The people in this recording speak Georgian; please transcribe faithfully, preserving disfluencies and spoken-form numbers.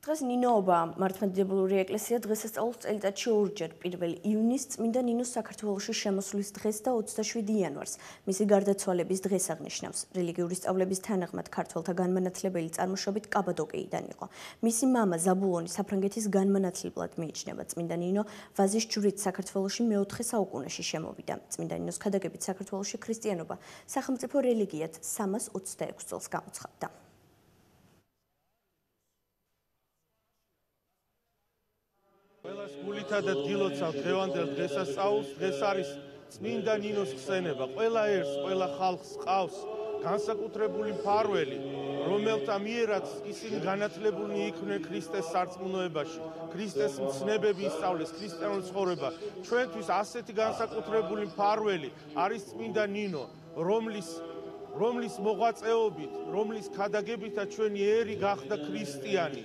დღეს ნინოობა მართლმადიდებლური ეკლესია დღესასწაულს წელიწადში ორჯერ პირველ ივნისს წმინდა ნინოს საქართველოში შემოსვლის დღეს და ოცდაშვიდი იანვარს მისი გარდაცვალების დღეს აღნიშნავს. რელიგიური სწავლების თანახმად ქართველთა განმანათლებელი წარმოშობით კაბადოკიიდან იყო. მისი მამა ზაბულონი საფრანგეთის განმანათლებლად მიიჩნევა. წმინდა ნინო ვაზის ჯვრით საქართველოში მეოთხე საუკუნეში შემოვიდა. წმინდა ნინოს ქადაგებით საქართველოში ქრისტიანობა სახელმწიფო რელიგიად სამას ოცდაექვსი წელს გამოცხადდა. ყველას გულითა და დილოცავ დღევანდელ დღესასწაულს. დღეს არის წმინდა ნინოს ხსენება. ყველა ერთს, ყველა ხალხს ყავს განსაკუთრებული მფარველი, რომელთა მიერაც ისინი განათლებულნი იყვნენ ქრისტეს სარწმუნოებაში, ქრისტეს მცნებები ისწავლეს, ქრისტიანული ცხოვრება. ჩვენთვის ასეთი განსაკუთრებული მფარველი არის წმინდა ნინო, რომლის რომლის მოღვაწეობით, რომლის ქადაგებითაც ჩვენი ერი გახდა ქრისტიანი.